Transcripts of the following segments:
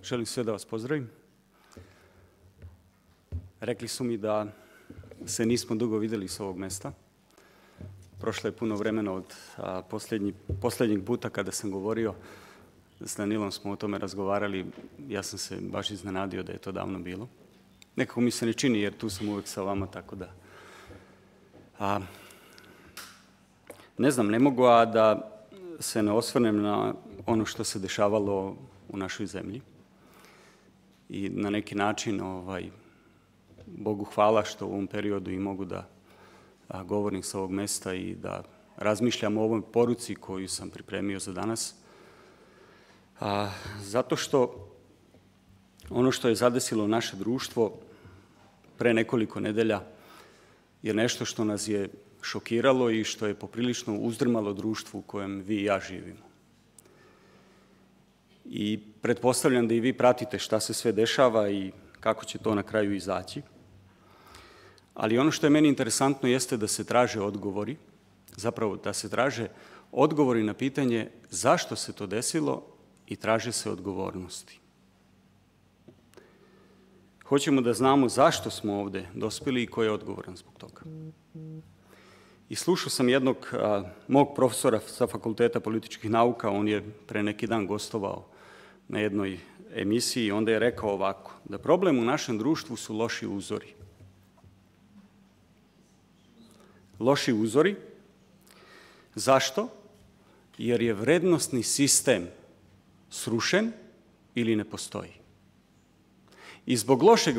Želim sve da vas pozdravim. Rekli su mi da se nismo dugo vidjeli s ovog mesta. Prošlo je puno vremena od posljednjeg puta kada sam govorio. S Danilom smo o tome razgovarali. Ja sam se baš iznenadio da je to davno bilo. Nekako mi se ne čini jer tu sam uvijek sa vama, tako da... Ne znam, ne mogu a da se ne osvrnem na ono što se dešavalo u našoj zemlji. I na neki način, Bogu hvala što u ovom periodu i mogu da govorim sa ovog mesta i da razmišljam o ovoj poruci koju sam pripremio za danas. Zato što ono što je zadesilo naše društvo pre nekoliko nedelja je nešto što nas je šokiralo i što je poprilično uzdrmalo društvu u kojem vi i ja živimo. I pretpostavljam da i vi pratite šta se sve dešava i kako će to na kraju izaći. Ali ono što je meni interesantno jeste da se traže odgovori, zapravo da se traže odgovori na pitanje zašto se to desilo i traže se odgovornosti. Hoćemo da znamo zašto smo ovde dospeli i ko je odgovoran zbog toga. I slušao sam jednog mog profesora sa Fakulteta političkih nauka, on je pre neki dan gostovao na jednoj emisiji i onda je rekao ovako, da problem u našem društvu su loši uzori. Loši uzori. Zašto? Jer je vrednosni sistem srušen ili ne postoji. I zbog lošeg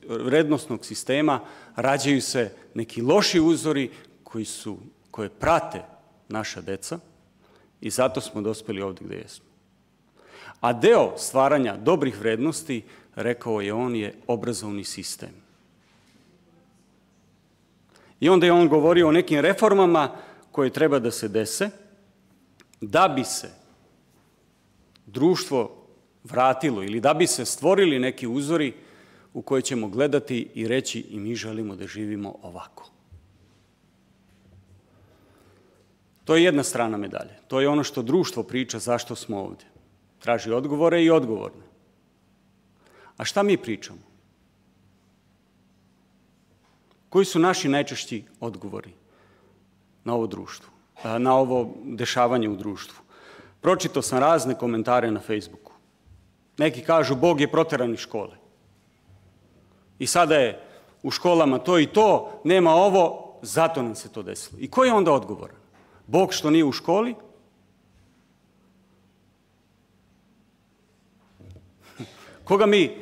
vrednosnog sistema rađaju se neki loši uzori koje prate naša deca i zato smo dospeli ovdje gdje jesmo. A deo stvaranja dobrih vrednosti, rekao je on, je obrazovni sistem. I onda je on govorio o nekim reformama koje treba da se dese da bi se društvo vratilo ili da bi se stvorili neki uzori u koje ćemo gledati i reći i mi želimo da živimo ovako. To je jedna strana medalje. To je ono što društvo priča zašto smo ovdje. Traži odgovore i odgovorne. A šta mi pričamo? Koji su naši najčešći odgovori na ovo društvo, na ovo dešavanje u društvu? Pročitao sam razne komentare na Facebooku. Neki kažu Bog je proteran iz škole. I sada je u školama to i to, nema ovo, zato nam se to desilo. I ko je onda odgovoran? Bog što nije u školi? Koga mi...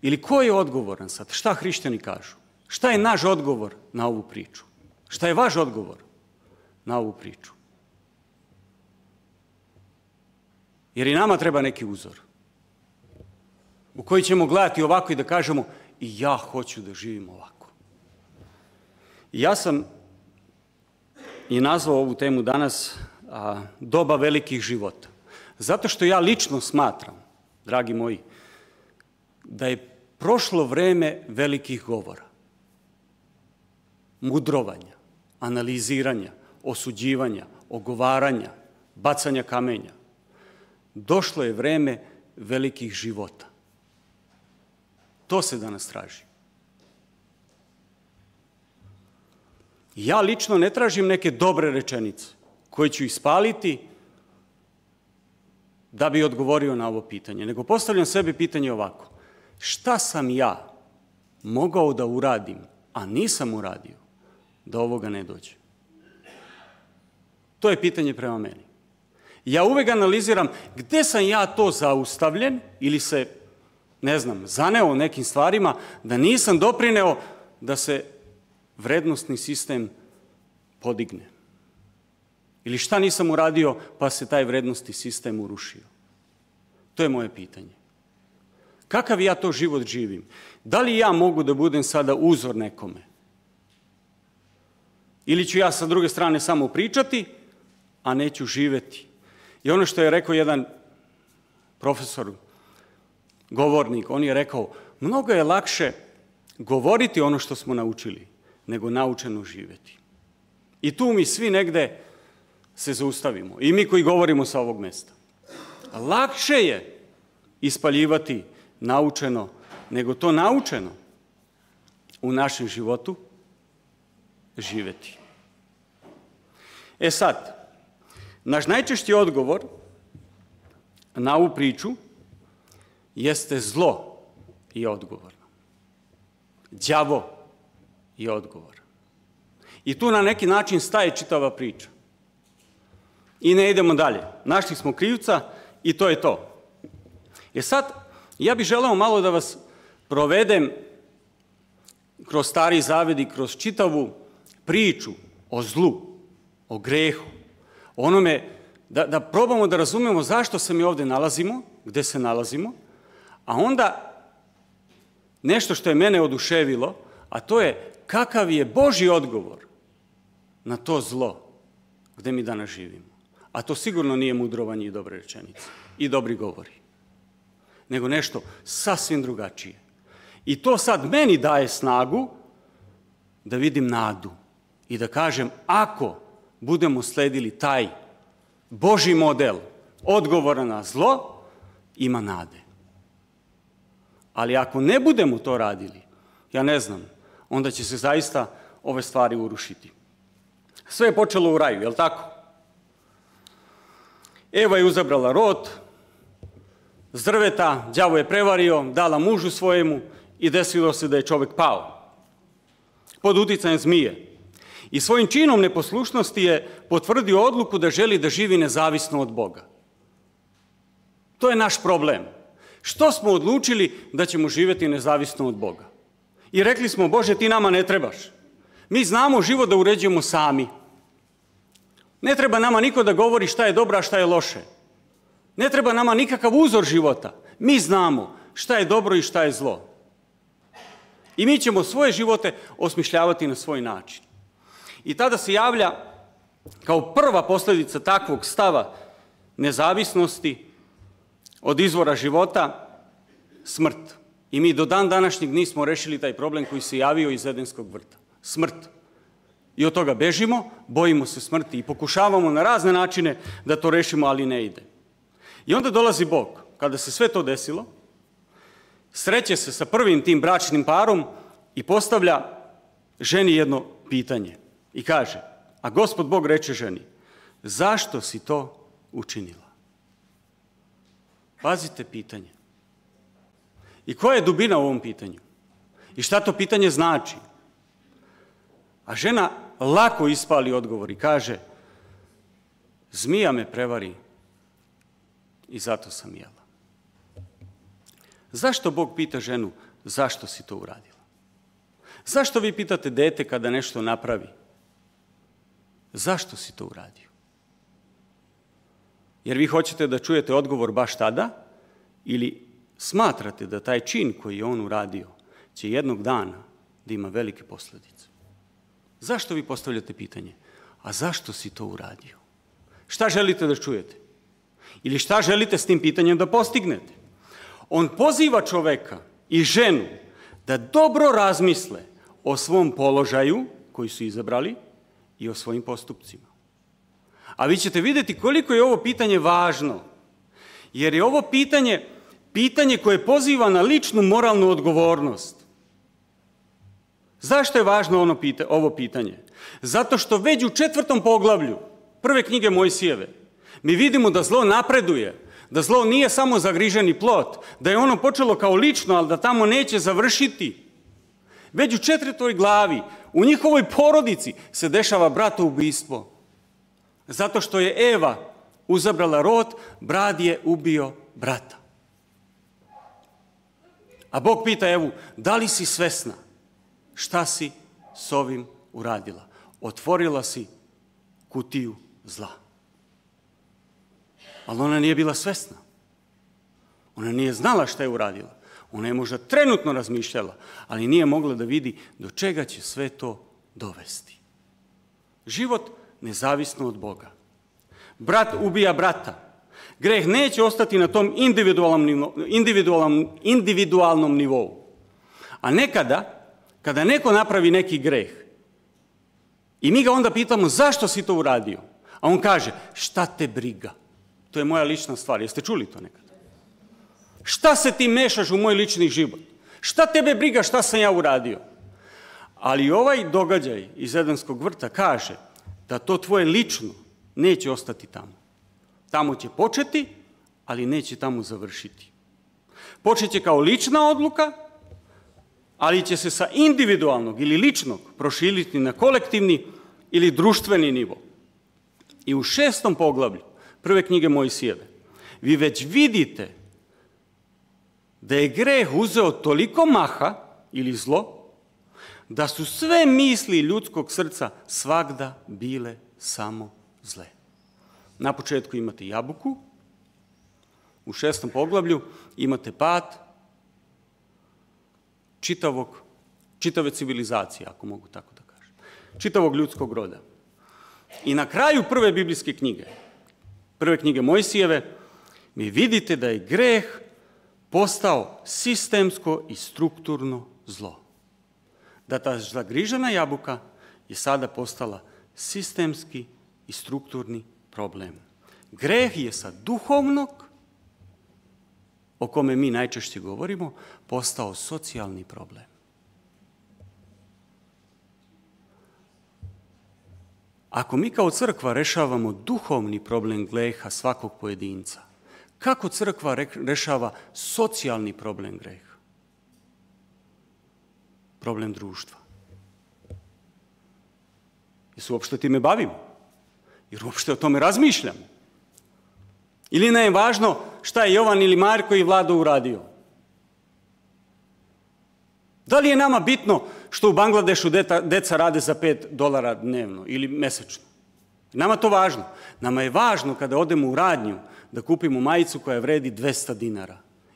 Ili ko je odgovoran sad? Šta hrišćani kažu? Šta je naš odgovor na ovu priču? Šta je vaš odgovor na ovu priču? Jer i nama treba neki uzor u koji ćemo gledati ovako i da kažemo i ja hoću da živim ovako. I ja sam i nazvao ovu temu danas doba velikih života. Zato što ja lično smatram, dragi moji, da je prošlo vreme velikih govora, mudrovanja, analiziranja, osuđivanja, ogovaranja, bacanja kamenja. Došlo je vreme velikih života. To se danas traži. Ja lično ne tražim neke dobre rečenice koje ću ispaliti da bi odgovorio na ovo pitanje, nego postavljam sebi pitanje ovako. Šta sam ja mogao da uradim, a nisam uradio, da ovoga ne dođe? To je pitanje prema meni. Ja uvek analiziram gde sam ja to zaustavljen ili se, ne znam, zaneo nekim stvarima da nisam doprineo da se vrednosni sistem podigne. Ili šta nisam uradio pa se taj vrednosni sistem urušio. To je moje pitanje. Kakav ja to život živim? Da li ja mogu da budem sada uzor nekome? Ili ću ja sa druge strane samo pričati, a neću živeti? I ono što je rekao jedan profesor, govornik, on je rekao, mnogo je lakše govoriti ono što smo naučili, nego naučeno živeti. I tu mi svi negde se zaustavimo. I mi koji govorimo sa ovog mesta. lakše je ispaljivati naučeno, nego to naučeno u našem životu živjeti. E sad, naš najčešći odgovor na ovu priču jeste zlo je odgovorno. Đavo je odgovor. I tu na neki način staje čitava priča. I ne idemo dalje. Našli smo krivca i to je to. Sad, ja bih želeo malo da vas provedem kroz Stari Zavet i kroz čitavu priču o zlu, o grehu, onome da probamo da razumemo zašto se mi ovdje nalazimo, gdje se nalazimo, a onda nešto što je mene oduševilo, a to je kakav je Božji odgovor na to zlo gdje mi danas živimo. A to sigurno nije mudrovanje i dobre rečenice i dobri govori, nego nešto sasvim drugačije. I to sad meni daje snagu da vidim nadu i da kažem, ako budemo sledili taj Božji model odgovora na zlo, ima nade. Ali ako ne budemo to radili, ja ne znam, onda će se zaista ove stvari urušiti. Sve je počelo u raju, je li tako? Eva je uzabrala rod, s drveta, đavo je prevario, dala mužu svojemu i desilo se da je čovjek pao pod uticajem zmije. I svojim činom neposlušnosti je potvrdio odluku da želi da živi nezavisno od Boga. To je naš problem. Što smo odlučili da ćemo živjeti nezavisno od Boga? I rekli smo, Bože, ti nama ne trebaš. Mi znamo život da uređujemo sami. Ne treba nama niko da govori šta je dobro, a šta je loše. Ne treba nama nikakav uzor života. Mi znamo šta je dobro i šta je zlo. I mi ćemo svoje živote osmišljavati na svoj način. I tada se javlja kao prva posljedica takvog stava nezavisnosti od izvora života smrt. I mi do dan današnjeg nismo rešili taj problem koji se javio iz Edenskog vrta. Smrt. I od toga bežimo, bojimo se smrti i pokušavamo na razne načine da to rešimo, ali ne ide. I onda dolazi Bog. Kada se sve to desilo, sreće se sa prvim tim bračnim parom i postavlja ženi jedno pitanje. I kaže, a Gospod Bog reče ženi, zašto si to učinila? Pazite pitanje. I koja je dubina u ovom pitanju? I šta to pitanje znači? A žena lako ispali odgovor i kaže, zmija me prevari i zato sam jela. Zašto Bog pita ženu, zašto si to uradila? Zašto vi pitate dete kada nešto napravi? Zašto si to uradio? Jer vi hoćete da čujete odgovor baš tada ili smatrate da taj čin koji je on uradio će jednog dana da ima velike posljedice? Zašto vi postavljate pitanje? A zašto si to uradio? Šta želite da čujete? Ili šta želite s tim pitanjem da postignete? On poziva čoveka i ženu da dobro razmisle o svom položaju koji su izabrali i o svojim postupcima. A vi ćete vidjeti koliko je ovo pitanje važno, jer je ovo pitanje koje poziva na ličnu moralnu odgovornost. Zašto je važno ovo pitanje? Zato što već u 4. poglavlju prve knjige Mojsijeve mi vidimo da zlo napreduje, da zlo nije samo zagriženi plot, da je ono počelo kao lično, ali da tamo neće završiti. Već u 4. glavi u njihovoj porodici se dešava bratoubistvo. Zato što je Eva uzabrala rod, brat je ubio brata. A Bog pita Evu, da li si svesna šta si s ovim uradila? Otvorila si kutiju zla. Ali ona nije bila svesna. Ona nije znala šta je uradila. Ona je možda trenutno razmišljala, ali nije mogla da vidi do čega će sve to dovesti. Život nezavisno od Boga. Brat ubija brata. Greh neće ostati na tom individualnom nivou. A nekada, kada neko napravi neki greh, i mi ga onda pitamo zašto si to uradio, a on kaže šta te briga, To je moja lična stvar. Jeste čuli to nekad? Šta se ti mešaš u moj lični život? Šta tebe briga šta sam ja uradio? Ali ovaj događaj iz Edenskog vrta kaže da to tvoje lično neće ostati tamo. Tamo će početi, ali neće tamo završiti. Počeće kao lična odluka, ali će se sa individualnog ili ličnog proširiti na kolektivni ili društveni nivo. I u 6. poglavlju prve knjige Mojsijeve vi već vidite da je greh uzeo toliko maha ili zlo, da su sve misli ljudskog srca svagda bile samo zle. Na početku imate jabuku, u 6. poglavlju imate pad čitave civilizacije, ako mogu tako da kažem, čitavog ljudskog roda. I na kraju prve biblijske knjige, prve knjige Mojsijeve, mi vidite da je greh postao sistemsko i strukturno zlo. Da ta zagrižena jabuka je sada postala sistemski i strukturni problem. Greh je sa duhovnog, o kome mi najčešće govorimo, postao socijalni problem. Ako mi kao crkva rešavamo duhovni problem greha svakog pojedinca, kako crkva rešava socijalni problem greha? Problem društva. Jer se uopšte time bavimo? Jer uopšte o tome razmišljamo? Ili nam je važno šta je Jovan ili Marko i Vlado uradio? Da li je nama bitno što u Bangladešu deca rade za $5 dnevno ili mesečno? Nama to važno. Nama je važno kada odemo u radnju da kupimo majicu koja vredi $200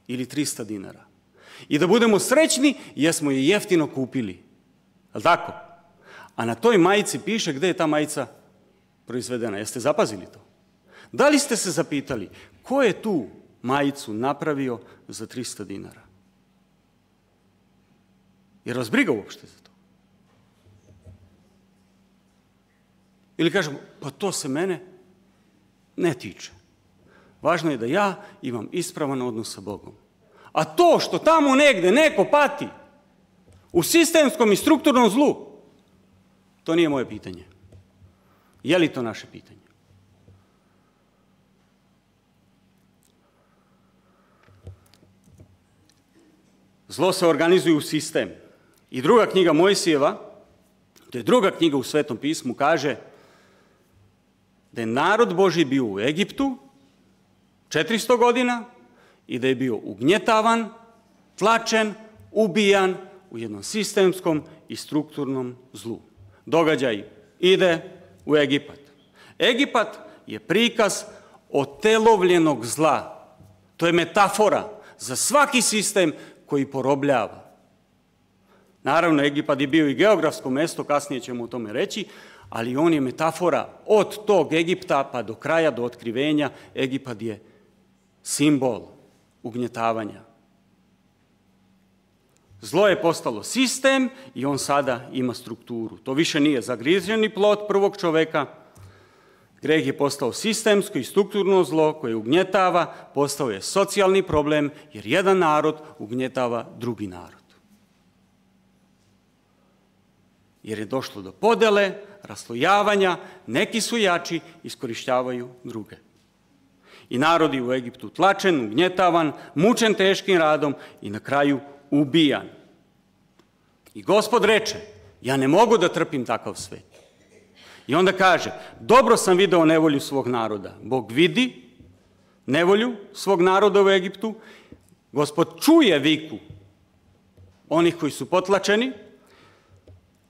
ili $300. I da budemo srećni jer smo je jeftino kupili. Je li tako? A na toj majici piše gde je ta majica proizvedena. Jeste zapazili to? Da li ste se zapitali ko je tu majicu napravio za $300? Jer vas briga uopšte za to? Ili kažemo, pa to se mene ne tiče. Važno je da ja imam ispravan odnos sa Bogom. A to što tamo negde neko pati u sistemskom i strukturnom zlu, to nije moje pitanje. Je li to naše pitanje? Zlo se organizuje u sistem. I druga knjiga Mojsijeva, to je druga knjiga u Svetom pismu, kaže da je narod Božji bio u Egiptu 400 godina i da je bio ugnjetavan, tlačen, ubijan u jednom sistemskom i strukturnom zlu. Događaj ide u Egipat. Egipat je prikaz otelovljenog zla. To je metafora za svaki sistem koji porobljava. Naravno, Egipat je bio i geografsko mesto, kasnije ćemo o tome reći, ali on je metafora od tog Egipta pa do kraja, do otkrivenja. Egipat je simbol ugnjetavanja. Zlo je postalo sistem i on sada ima strukturu. To više nije zagriženi plod prvog čoveka. Greh je postao sistemsko i strukturno zlo koje ugnjetava, postao je socijalni problem jer jedan narod ugnjetava drugi narod. Jer je došlo do podele, raslojavanja, neki su jači, iskorištavaju druge. I narod je u Egiptu tlačen, ugnjetavan, mučen teškim radom i na kraju ubijan. I Gospod reče, ja ne mogu da trpim takav svet. I onda kaže, dobro sam video nevolju svog naroda. Bog vidi nevolju svog naroda u Egiptu. Gospod čuje viku onih koji su potlačeni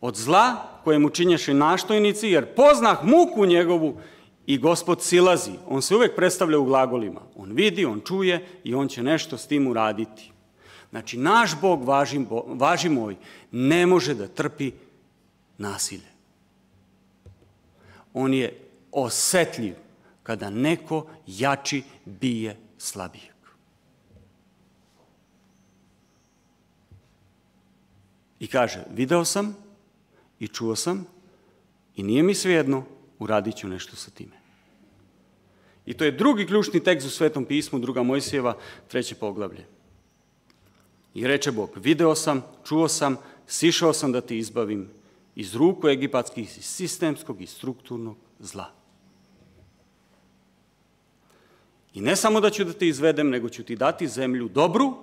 od zla kojemu činješe naštojnici, jer poznah muku njegovu i Gospod silazi. On se uvek predstavlja u glagolima. On vidi, on čuje i on će nešto s tim uraditi. Znači, naš Bog, važi moj, ne može da trpi nasilje. On je osetljiv kada neko jači bije slabijeg. I kaže, video sam i čuo sam i nije mi svejedno, uradit ću nešto sa time. I to je drugi ključni tekst u Svetom pismu, 2. Mojsijeva, 3. poglavlje. I reče Bog, video sam, čuo sam, sišao sam da te izbavim iz ruku egipatskih, iz sistemskog i strukturnog zla. I ne samo da ću da te izvedem, nego ću ti dati zemlju dobru,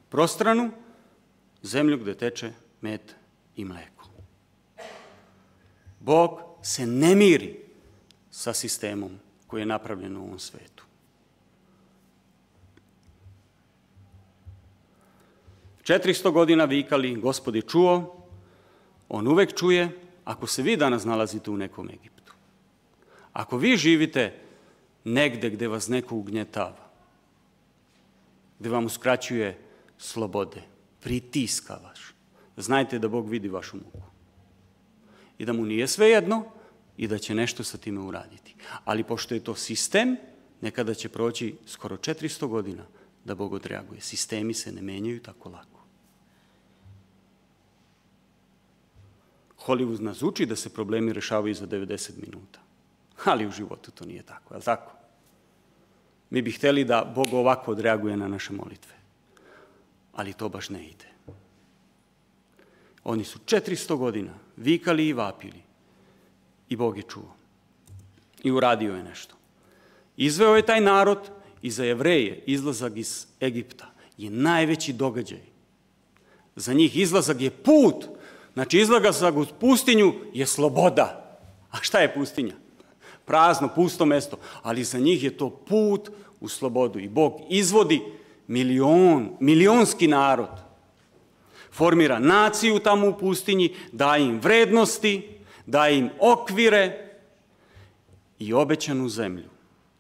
prostranu, zemlju gde teče med i mleko. Bog se ne miri sa sistemom koji je napravljen u ovom svetu. 400 godina vikali, Gospod je čuo, on uvek čuje. Ako se vi danas nalazite u nekom Egiptu, ako vi živite negde gde vas neko ugnjetava, gde vam uskraćuje slobode, pritiska vaš, znajte da Bog vidi vašu muku i da mu nije svejedno i da će nešto sa time uraditi. Ali pošto je to sistem, nekada će proći skoro 400 godina da Bog odreaguje. Sistemi se ne menjaju tako lako. Hollywood nas uči da se problemi rešavaju za 90 minuta. Ali u životu to nije tako, je li tako? Mi bi hteli da Bog ovako odreaguje na naše molitve. Ali to baš ne ide. Oni su 400 godina vikali i vapili. I Bog je čuo. I uradio je nešto. Izveo je taj narod i za Jevreje izlazak iz Egipta je najveći događaj. Za njih izlazak je put. Znači, izlazak u pustinju je sloboda. A šta je pustinja? Prazno, pusto mesto. Ali za njih je to put u slobodu. I Bog izvodi milionski narod. Formira naciju tamo u pustinji, daje im vrednosti, daje im okvire i obećanu zemlju,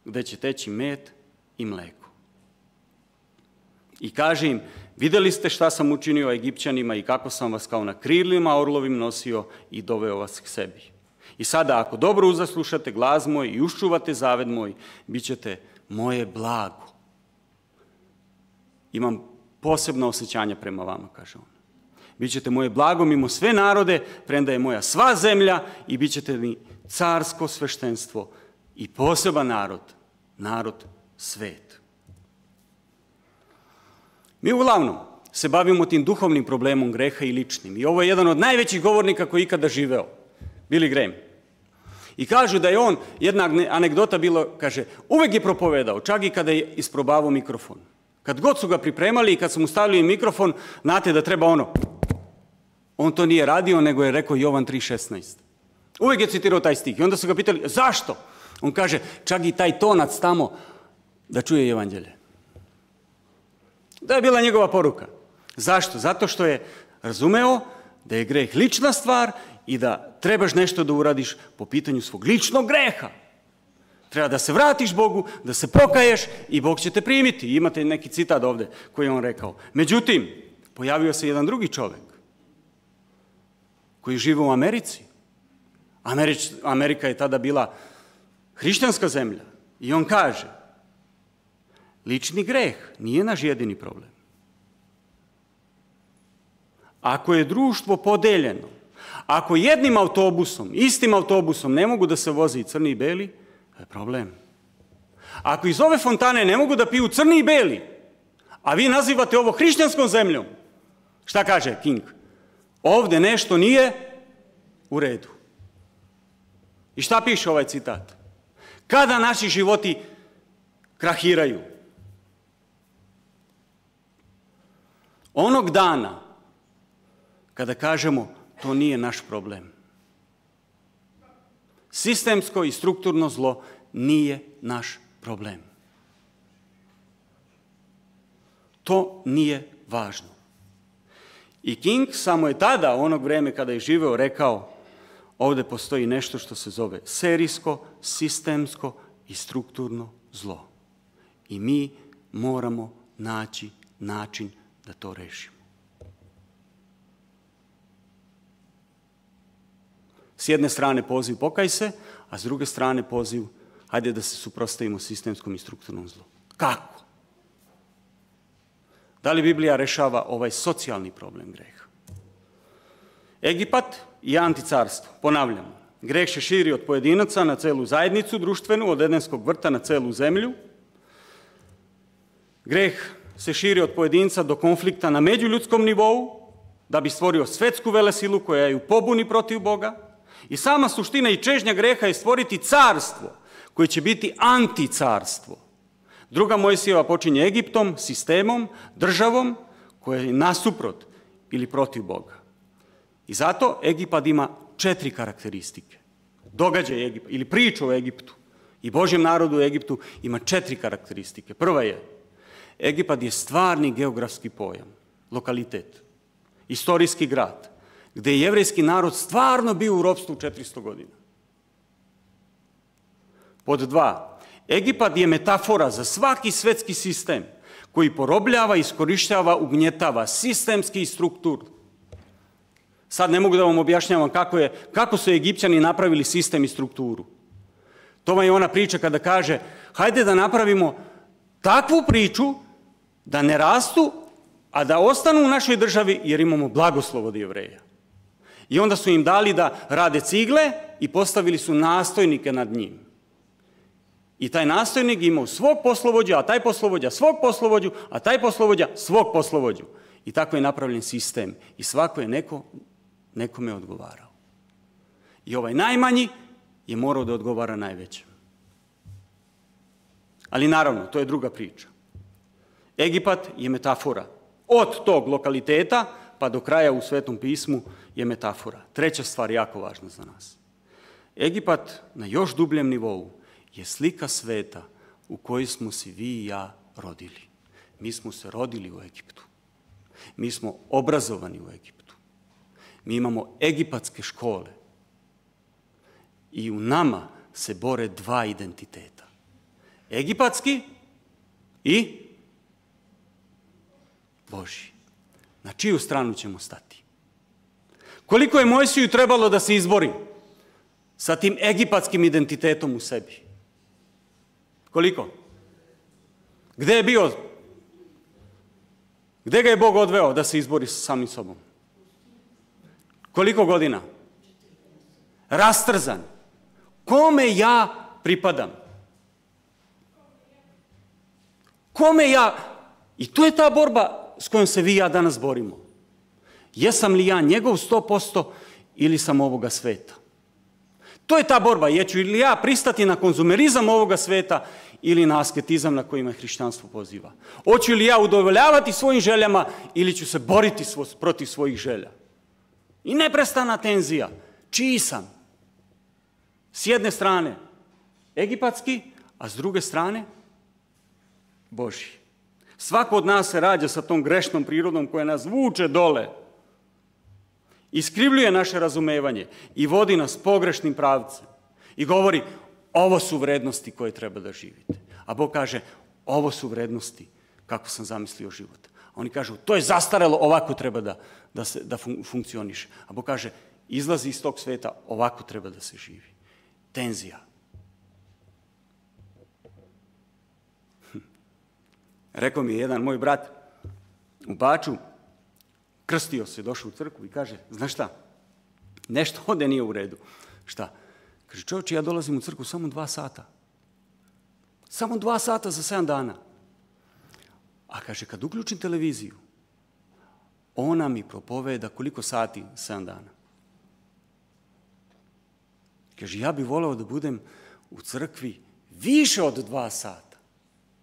gde će teći med i mleko. I kaže im, videli ste šta sam učinio Egipćanima i kako sam vas kao na krilima orlovim nosio i doveo vas k sebi. I sada, ako dobro uzaslušate glas moj i uščuvate zaved moj, bit ćete moje blago. Imam posebno osjećanja prema vama, kaže on. Bićete moje blago mimo sve narode, premda je moja sva zemlja i bit ćete mi carsko sveštenstvo i poseban narod, narod svet. Mi uglavnom se bavimo tim duhovnim problemom greha i ličnim. I ovo je jedan od najvećih govornika koji je ikada živeo, Billy Graham. I kažu da je on, jedna anegdota bilo, kaže, uvek je propovedao, čak i kada je isprobavao mikrofon. Kad god su ga pripremali i kad su mu stavili mikrofon, znate da treba ono. On to nije radio, nego je rekao Jovan 3.16. Uvijek je citirao taj stih. I onda su ga pitali, zašto? On kaže, čak i taj tonac tamo da čuje evanđelje. Da je bila njegova poruka. Zašto? Zato što je razumeo da je greh lična stvar i da trebaš nešto da uradiš po pitanju svog ličnog greha. Treba da se vratiš Bogu, da se pokaješ i Bog će te primiti. Imate neki citat ovde koji je on rekao. Međutim, pojavio se jedan drugi čovek koji žive u Americi. Amerika je tada bila hrišćanska zemlja. I on kaže, lični greh nije naš jedini problem. Ako je društvo podeljeno, ako jednim autobusom, istim autobusom ne mogu da se voze i crni i beli, to je problem. Ako iz ove fontane ne mogu da piju crni i beli, a vi nazivate ovo hrišćanskom zemljom, šta kaže King? Ovde nešto nije u redu. I šta piše ovaj citat? Kada naši životi krahiraju? Onog dana kada kažemo to nije naš problem. Sistemsko i strukturno zlo nije naš problem. To nije važno. I King samo je tada, onog vreme kada je živeo, rekao ovde postoji nešto što se zove serijsko, sistemsko i strukturno zlo. I mi moramo naći način da to rešimo. S jedne strane poziv pokaj se, a s druge strane poziv hajde da se suprotstavimo sistemskom i strukturnom zlu. Kako? Da li Biblija rešava ovaj socijalni problem greha? Egipat i anticarstvo, ponavljamo. greh se širi od pojedinaca na celu zajednicu društvenu, od Edenskog vrta na celu zemlju. Greh se širi od pojedinca do konflikta na međuljudskom nivou, da bi stvorio svetsku velesilu koja je u pobuni protiv Boga. I sama suština i čežnja greha je stvoriti carstvo koje će biti anticarstvo. Druga Mojsijeva počinje Egiptom, sistemom, državom koja je nasuprot ili protiv Boga. I zato Egipat ima 4 karakteristike. Događaj Egipat ili priča o Egiptu i Božjem narodu u Egiptu ima 4 karakteristike. Prva je, Egipat je stvarni geografski pojam, lokalitet, istorijski grad, gdje je jevrejski narod stvarno bio u ropstvu 400 godina. Pod 2, Egipat je metafora za svaki svetski sistem koji porobljava, iskorištava, ugnjetava sistemski i strukturno. Sad ne mogu da vam objašnjavam kako su Egipćani napravili sistem i strukturu. To vam je ona priča kada kaže, hajde da napravimo takvu priču da ne rastu, a da ostanu u našoj državi jer imamo blagoslov od Jevreja. I onda su im dali da rade cigle i postavili su nastojnike nad njim. I taj nastojnik imao svog poslovođa, a taj poslovođa svog poslovođu, a taj poslovođa svog poslovođu. I tako je napravljen sistem. I svako je nekome odgovarao. I ovaj najmanji je morao da odgovara najvećem. Ali naravno, to je druga priča. Egipat je metafora. Od tog lokaliteta pa do kraja u Svetom pismu je metafora. Treća stvar jako važna za nas. Egipat na još dubljem nivou je slika sveta u kojoj smo se vi i ja rodili. Mi smo se rodili u Egiptu. Mi smo obrazovani u Egiptu. Mi imamo egipatske škole. I u nama se bore 2 identiteta. Egipatski i Božji. Na čiju stranu ćemo stati? Koliko je Mojsiju trebalo da se izbori sa tim egipatskim identitetom u sebi? Koliko? Gde je bio? Gde ga je Bog odveo da se izbori sa samim sobom? Koliko godina? Rastrzan. Kome ja pripadam? Kome ja? I to je ta borba s kojom se vi i ja danas borimo. Jesam li ja njegov 100% ili sam ovoga sveta? To je ta borba. Jeću li ja pristati na konzumerizam ovoga sveta ili na asketizam na kojima hrišćanstvo poziva? Hoću li ja udovoljavati svojim željama ili ću se boriti protiv svojih želja? I neprestana tenzija. Čiji sam? S jedne strane egipatski, a s druge strane Božji. Svako od nas se rađa sa tom grešnom prirodom koja nas vuče dole, iskrivljuje naše razumevanje i vodi nas pogrešnim pravcem i govori, ovo su vrednosti koje treba da živite. A Bog kaže, ovo su vrednosti kako sam zamislio život. A oni kažu, to je zastarelo, ovako treba da funkcioniše. A Bog kaže, izlazi iz tog sveta, ovako treba da se živi. Tenzija. Rekao mi je jedan moj brat u Baču, krstio se, došao u crkvu i kaže, znaš šta, nešto ovdje nije u redu. Šta? Kaže, čovječe, ja dolazim u crkvu samo 2 sata. Samo 2 sata za 7 dana. A kaže, kad uključim televiziju, ona mi propoveda koliko sati 7 dana. Kaže, ja bih voleo da budem u crkvi više od 2 sata.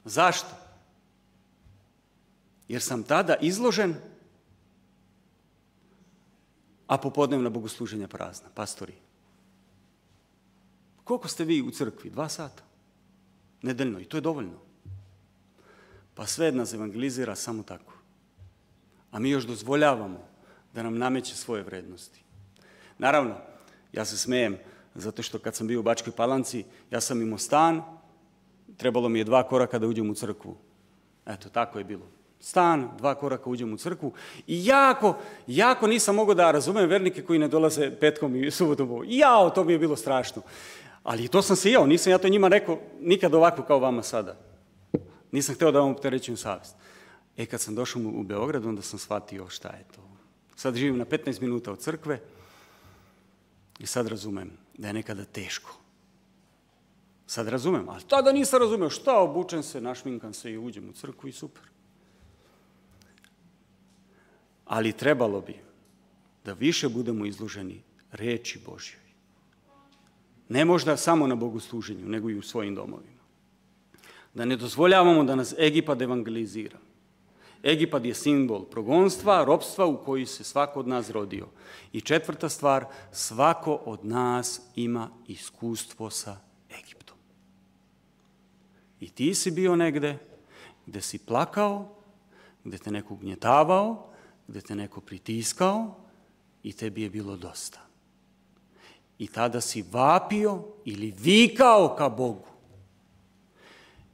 Zašto? Jer sam tada izložen, a popodnevna bogosluženja prazna, pastori. Koliko ste vi u crkvi? 2 sata. Nedeljno. I to je dovoljno. Pa sve nas evangelizira samo tako. A mi još dozvoljavamo da nam nameće svoje vrednosti. Naravno, ja se smejem, zato što kad sam bio u Bačkoj Palanci, ja sam imao stan, trebalo mi je 2 koraka da uđem u crkvu. Eto, tako je bilo. Stan, 2 koraka uđem u crkvu i jako nisam mogao da razumem vernike koji ne dolaze petkom i subotom. Jao, to mi je bilo strašno. Ali to sam se jeo, nisam ja to njima rekao nikad ovako kao vama sada. Nisam hteo da vam opterećujem savjest. Kad sam došao u Beograd, onda sam shvatio šta je to. Sad živim na 15 minuta od crkve i sad razumem. da je nekada teško. Sad razumem, ali tada nisam razumeo. Šta, obučem se, našminkam se i uđem u crkvu i super. Ali trebalo bi da više budemo izloženi reči Božjoj. Ne možda samo na bogosluženju, nego i u svojim domovima. Da ne dozvoljavamo da nas Egipat evangelizira. Egipat je simbol progonstva, ropstva u koji se svako od nas rodio. I četvrta stvar, svako od nas ima iskustvo sa Egiptom. I ti si bio negde gde si plakao, gde te neko ugnjetavao, gde te neko pritiskao i tebi je bilo dosta. I tada si vapio ili vikao ka Bogu.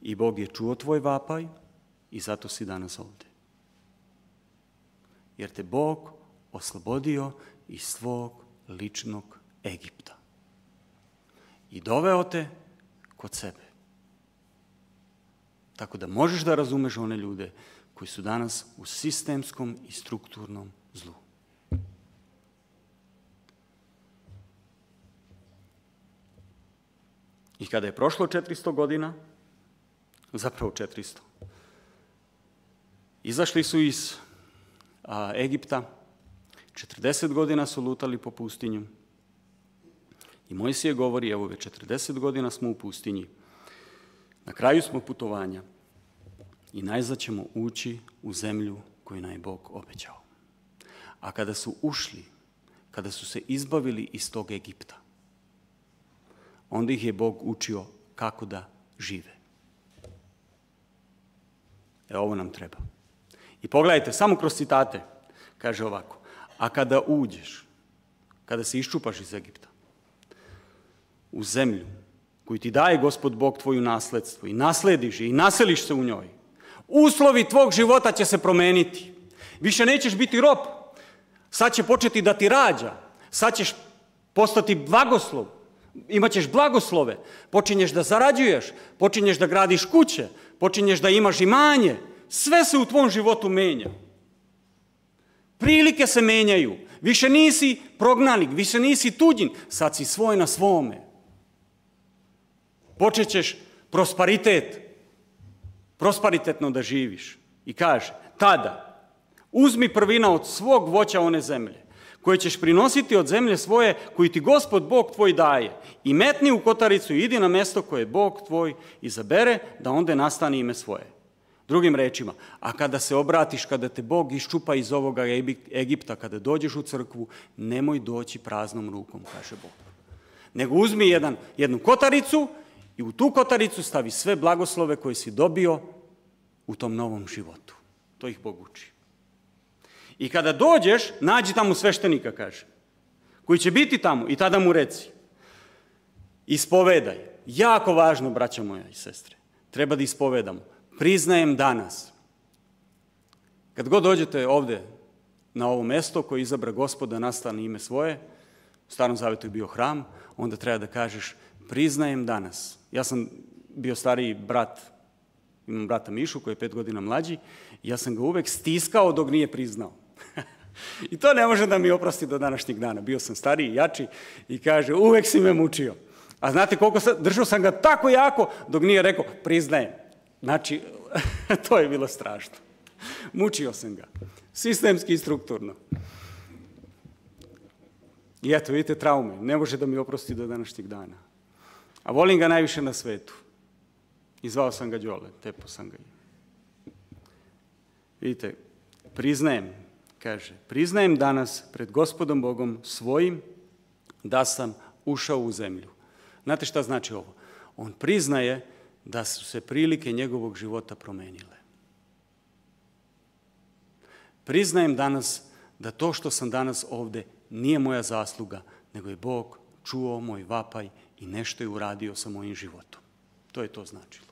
I Bog je čuo tvoj vapaj i zato si danas ovde. Jer te Bog oslobodio iz svog ličnog Egipta. I doveo te kod sebe. Tako da možeš da razumeš one ljude koji su danas u sistemskom i strukturnom zlu. I kada je prošlo 400 godina, zapravo 400, izašli su iz Egipta, 40 godina su lutali po pustinju i Mojsije govori, evo već 40 godina smo u pustinji, na kraju smo putovanja i najzad ćemo ući u zemlju koju nam je Bog obećao. A kada su ušli, kada su se izbavili iz tog Egipta, onda ih je Bog učio kako da žive. Ovo nam treba. I pogledajte, samo kroz citate, kaže ovako, a kada uđeš, kada se iščupaš iz Egipta, u zemlju koju ti daje Gospod Bog tvoju nasledstvo i naslediš je i naseliš se u njoj, uslovi tvog života će se promeniti. Više nećeš biti rob. Sad će početi da ti rađa. Sad ćeš postati blagoslov. Imaćeš blagoslove. Počinješ da zarađuješ. Počinješ da gradiš kuće. Počinješ da imaš imanje. Sve se u tvom životu menja. Prilike se menjaju. Više nisi prognanik, više nisi tuđin. Sad si svoj na svome. Počećeš prosperitetno da živiš. I kaže, tada uzmi prvina od svog voća one zemlje, koje ćeš prinositi od zemlje svoje, koju ti Gospod Bog tvoj daje, i metni u kotaricu i idi na mesto koje Bog tvoj izabere, da onda nastane ime svoje. Drugim rečima, a kada se obratiš, kada te Bog iščupa iz ovoga Egipta, kada dođeš u crkvu, nemoj doći praznom rukom, kaže Bog. Nego uzmi jednu kotaricu i u tu kotaricu stavi sve blagoslove koje si dobio u tom novom životu. To ih Bog uči. I kada dođeš, nađi tamo sveštenika, kaže, koji će biti tamo i tada mu reci, ispovedaj. Jako važno, braća moja i sestre, treba da ispovedamo. Priznajem danas. Kad god dođete ovde na ovo mesto koje izabra Gospod da nastane ime svoje, u Starom Zavetu je bio hram, onda treba da kažeš priznajem danas. Ja sam bio stariji brat, imam brata Mišu koji je 5 godina mlađi, i ja sam ga uvek stiskao dok nije priznao. I to ne može da mi oprosti do današnjeg dana. Bio sam stariji, jači i kaže uvek si me mučio. A znate koliko držao sam ga tako jako dok nije rekao priznajem. Znači, to je bilo strašno. Mučio sam ga. Sistemski i strukturno. I eto, vidite traume. Ne može da mi oprosti do današnjeg dana. A volim ga najviše na svetu. I zvao sam ga Đole, tepo sam ga. Vidite, priznajem, kaže, priznajem danas pred Gospodom Bogom svojim da sam ušao u zemlju. Znate šta znači ovo? On priznaje da su se prilike njegovog života promenile. Priznajem danas da to što sam danas ovde nije moja zasluga, nego je Bog čuo moj vapaj i nešto je uradio sa mojim životom. To je to značilo.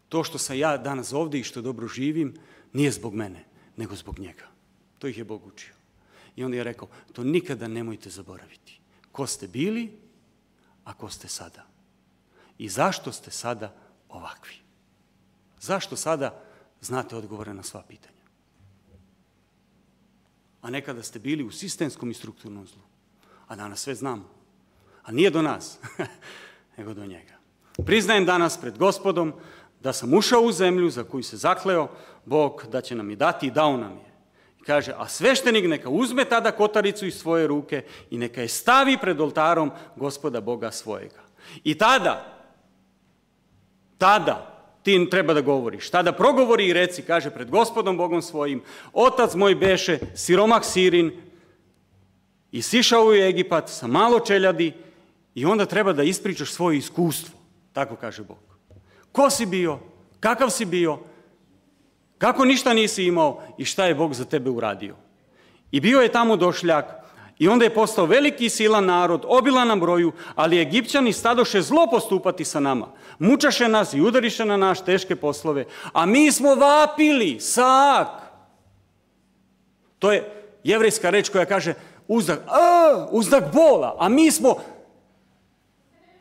To što sam ja danas ovde i što dobro živim, nije zbog mene, nego zbog njega. To ih je Bog učio. I onda je rekao, to nikada nemojte zaboraviti. Ko ste bili, a ko ste sada. I zašto ste sada ovakvi? Zašto sada znate odgovore na sva pitanja? A nekada ste bili u sistemskom i strukturnom zlu. A danas sve znamo. A nije do nas, nego do njega. Priznajem danas pred Gospodom da sam ušao u zemlju za koju se zakleo Bog da će nam je dati i dao nam je. I kaže, a sveštenik neka uzme tada kotaricu iz svoje ruke i neka je stavi pred oltarom Gospoda Boga svojega. I tada ti treba da govoriš. Tada progovori i reci, kaže, pred Gospodom Bogom svojim, otac moj beše siromah Sirin i sišao u Egipat sa malo čeljadi i onda treba da ispričaš svoje iskustvo. Tako kaže Bog. Ko si bio? Kakav si bio? Kako ništa nisi imao i šta je Bog za tebe uradio? I bio je tamo došljak i onda je postao veliki i silan narod, obilan na broju, ali Egipćani stadoše zlo postupati sa nama. Mučaše nas i udariše na naš teške poslove, a mi smo vapili, sak. To je jevrejska reč koja kaže uzdak bola, a mi smo,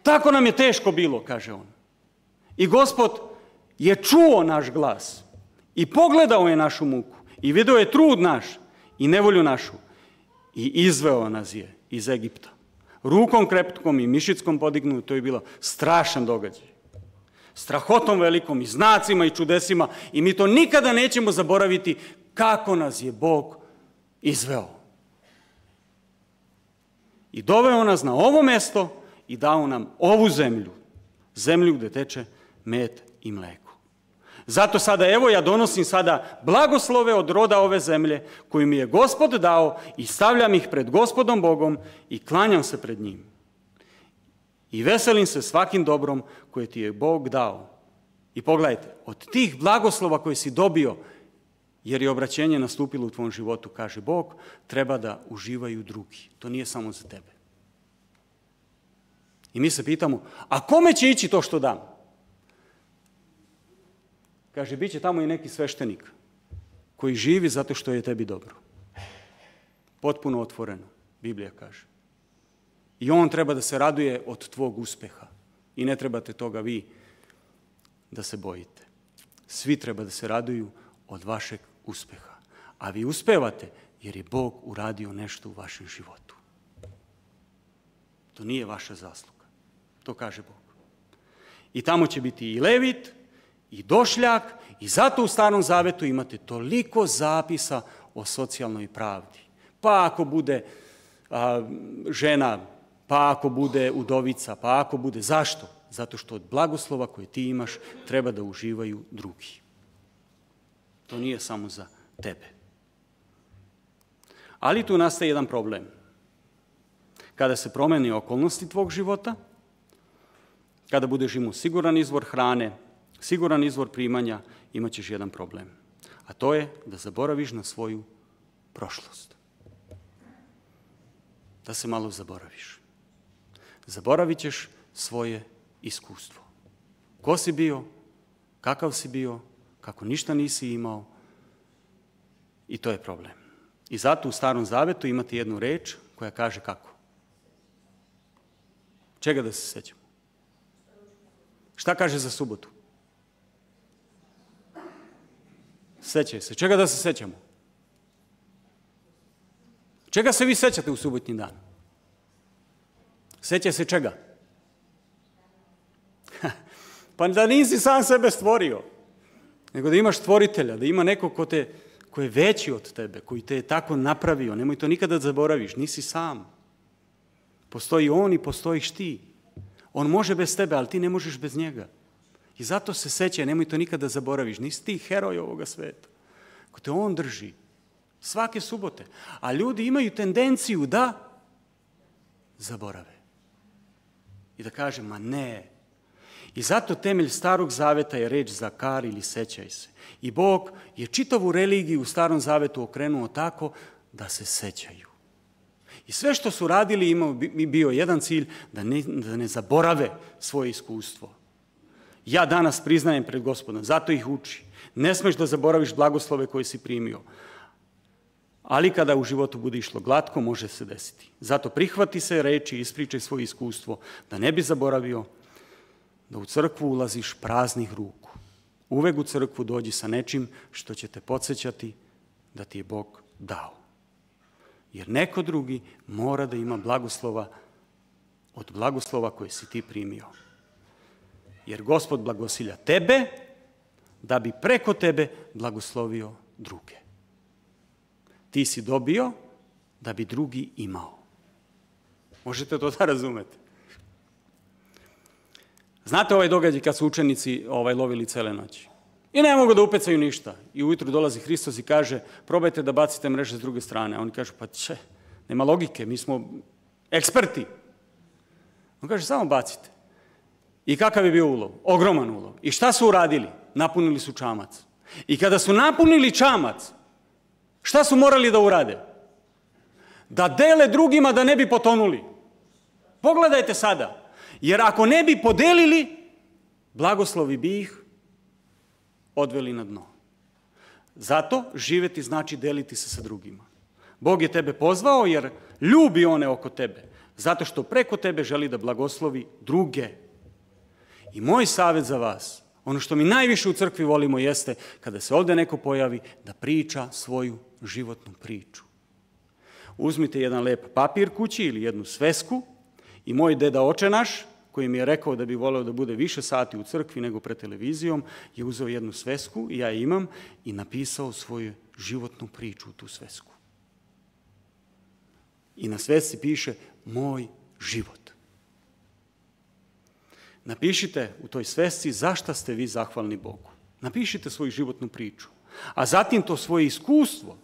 tako nam je teško bilo, kaže on. I Gospod je čuo naš glas i pogledao je našu muku i vidio je trud naš i nevolju našu i izveo nas je iz Egipta. Rukom krepkom i mišickom podignu, to je bilo strašan događaj. Strahotom velikom i znacima i čudesima i mi to nikada nećemo zaboraviti kako nas je Bog izveo. I doveo nas na ovo mesto i dao nam ovu zemlju, zemlju gde teče med i mleko. Zato sada, evo ja donosim sada blagoslove od roda ove zemlje koju mi je Gospod dao i stavljam ih pred Gospodom Bogom i klanjam se pred njim. I veselim se svakim dobrom koje ti je Bog dao. I pogledajte, od tih blagoslova koje si dobio, jer je obraćenje nastupilo u tvom životu, kaže Bog, treba da uživaju drugi. To nije samo za tebe. I mi se pitamo, a kome će ići to što dam? Kaže, bit će tamo i neki sveštenik koji živi zato što je tebi dobro. Potpuno otvoreno, Biblija kaže. I on treba da se raduje od tvog uspeha. I ne trebate toga vi da se bojite. Svi treba da se raduju od vašeg uspeha. A vi uspevate jer je Bog uradio nešto u vašem životu. To nije vaša zasluga. To kaže Bog. I tamo će biti i Levit, i došljak, i zato u Starom Zavetu imate toliko zapisa o socijalnoj pravdi. Pa ako bude žena, pa ako bude udovica, pa ako bude... Zašto? Zato što od blagoslova koje ti imaš treba da uživaju drugi. To nije samo za tebe. Ali tu nastaje jedan problem. Kada se promeni okolnosti tvog života, kada budeš imao siguran izvor hrane, siguran izvor primanja, imat ćeš jedan problem. A to je da zaboraviš na svoju prošlost. Da se malo zaboraviš. Zaboravit ćeš svoje iskustvo. Ko si bio, kakav si bio, kako ništa nisi imao. I to je problem. I zato u Starom Zavetu imate jednu reč koja kaže kako? Čega da se sećamo? Šta kaže za subotu? Sećaj se. Čega da se sećamo? Čega se vi sećate u subotnji dan? Sećaj se čega? Pa da nisi sam sebe stvorio, nego da imaš stvoritelja, da ima neko ko je veći od tebe, koji te je tako napravio. Nemoj to nikada da zaboraviš, nisi sam. Postoji on i postojiš ti. On može bez tebe, ali ti ne možeš bez njega. I zato se sećaj, nemoj to nikada da zaboraviš. Nisi ti heroj ovoga sveta. Ko te on drži svake subote. A ljudi imaju tendenciju da zaborave. I da kaže, ma ne. I zato temelj Starog Zaveta je reč zakar ili sećaj se. I Bog je čitavu religiju u Starom Zavetu okrenuo tako da se sećaju. I sve što su radili imao bio jedan cilj, da ne zaborave svoje iskustvo. Ja danas priznajem pred Gospodom, zato ih uči. Ne smeš da zaboraviš blagoslove koje si primio. Ali kada u životu bude išlo glatko, može se desiti. Zato prihvati se reči i ispričaj svoje iskustvo, da ne bi zaboravio da u crkvu ulaziš praznih ruku. Uvek u crkvu dođi sa nečim što će te podsjećati da ti je Bog dao. Jer neko drugi mora da ima blagoslova od blagoslova koje si ti primio. Jer Gospod blagosilja tebe, da bi preko tebe blagoslovio druge. Ti si dobio da bi drugi imao. Možete to da razumete? Znate ovaj događaj kad su učenici lovili cele noći? I ne mogu da upecaju ništa. I ujutru dolazi Hristos i kaže, probajte da bacite mreže s druge strane. A oni kažu, pa nema logike, mi smo eksperti. On kaže, samo bacite. I kakav je bio ulov? Ogroman ulov. I šta su uradili? Napunili su čamac. I kada su napunili čamac, šta su morali da urade? Da dele drugima da ne bi potonuli. Pogledajte sada. Jer ako ne bi podelili, blagoslovi bi ih odveli na dno. Zato živeti znači deliti se sa drugima. Bog je tebe pozvao jer ljubi one oko tebe. Zato što preko tebe želi da blagoslovi druge. I moj savjet za vas, ono što mi najviše u crkvi volimo jeste kada se ovdje neko pojavi da priča svoju životnu priču. Uzmite jedan lep papir kući ili jednu svesku i moj deda oče naš, koji mi je rekao da bi voleo da bude više sati u crkvi nego pred televizijom, je uzeo jednu svesku, i ja je imam, i napisao svoju životnu priču u tu svesku. I na svesci piše moj život. Napišite u toj svesci zašto ste vi zahvalni Bogu. Napišite svoju životnu priču. A zatim to svoje iskustvo